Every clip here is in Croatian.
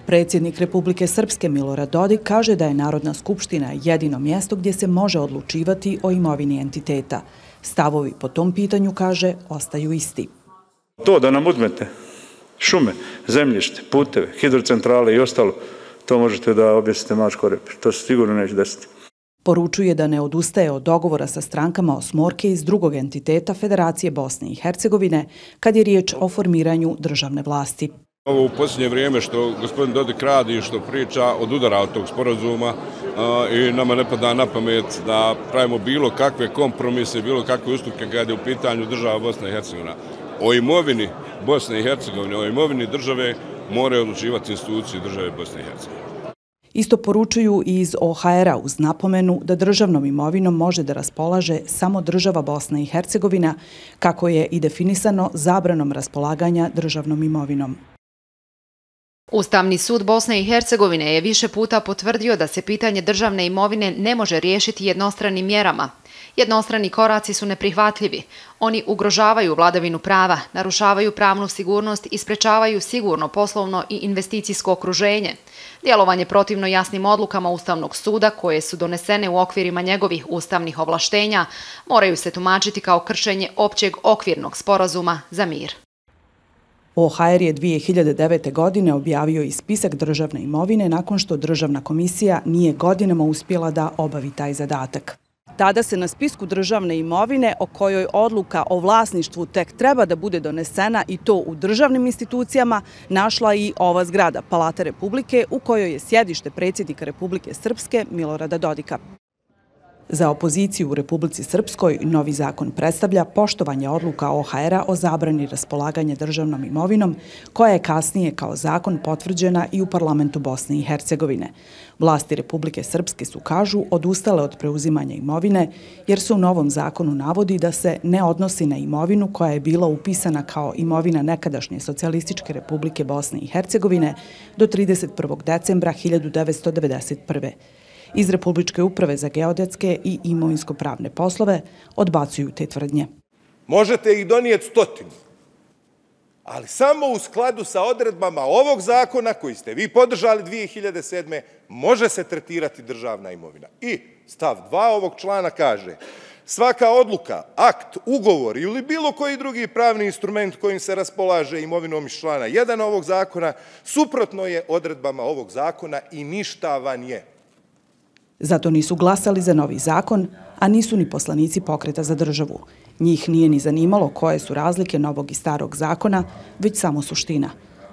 Predsjednik Republike Srpske Milorad Dodik kaže da je Narodna skupština jedino mjesto gdje se može odlučivati o imovini entiteta. Stavovi po tom pitanju, kaže, ostaju isti. To da nam uzmete šume, zemljište, puteve, hidrocentrale i ostalo, to možete da objesite mačku repu. To se sigurno neće desiti. Poručuje da ne odustaje od dogovora sa strankama osmorke iz drugog entiteta Federacije Bosne i Hercegovine kad je riječ o formiranju državne vlasti. Ovo u posljednje vrijeme što gospodin Dodik radi i što priča odudara od tog sporazuma i nama ne pada na pamet da pravimo bilo kakve kompromise, bilo kakve ustupke kada je u pitanju država Bosna i Hercegovina. O imovini Bosne i Hercegovine, o imovini države moraju odlučivati institucije države Bosne i Hercegovine. Isto poručuju i iz OHR-a uz napomenu da državnom imovinom može da raspolaže samo država Bosna i Hercegovina, kako je i definisano zabranom raspolaganja državnom imovinom. Ustavni sud Bosne i Hercegovine je više puta potvrdio da se pitanje državne imovine ne može riješiti jednostranim mjerama. Jednostrani koraci su neprihvatljivi. Oni ugrožavaju vladavinu prava, narušavaju pravnu sigurnost i sprečavaju sigurno poslovno i investicijsko okruženje. Djelovanje protivno jasnim odlukama Ustavnog suda, koje su donesene u okvirima njegovih ustavnih ovlaštenja, moraju se tumačiti kao kršenje općeg okvirnog sporazuma za mir. OHR je 2009. godine objavio i spisak državne imovine nakon što državna komisija nije godinama uspjela da obavi taj zadatak. Tada se na spisku državne imovine, o kojoj odluka o vlasništvu tek treba da bude donesena i to u državnim institucijama, našla i ova zgrada, Palata Republike, u kojoj je sjedište predsjednika Republike Srpske Milorada Dodika. Za opoziciju u Republici Srpskoj novi zakon predstavlja poštovanje odluka OHR-a o zabrani raspolaganja državnom imovinom, koja je kasnije kao zakon potvrđena i u parlamentu Bosne i Hercegovine. Vlasti Republike Srpske su, kažu, odustale od preuzimanja imovine, jer se u novom zakonu navodi da se ne odnosi na imovinu koja je bila upisana kao imovina nekadašnje Socijalističke Republike Bosne i Hercegovine do 31. decembra 1991. Iz Republičke uprave za geodetske i imovinsko-pravne poslove odbacuju te tvrdnje. Možete ih donijeti 100, ali samo u skladu sa odredbama ovog zakona koji ste vi podržali 2007. može se tretirati državna imovina. I stav 2 ovog člana kaže: svaka odluka, akt, ugovor ili bilo koji drugi pravni instrument kojim se raspolaže imovinom iz člana 1 ovog zakona suprotno je odredbama ovog zakona i ništavan je. Zato nisu glasali za novi zakon, a nisu ni poslanici Pokreta za državu. Njih nije ni zanimalo koje su razlike novog i starog zakona, već samo suština.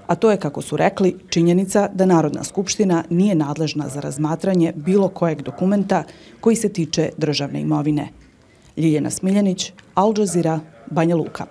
A to je, kako su rekli, činjenica da Narodna skupština nije nadležna za razmatranje bilo kojeg dokumenta koji se tiče državne imovine. Ljiljana Smiljanić, Al Jazeera, Banja Luka.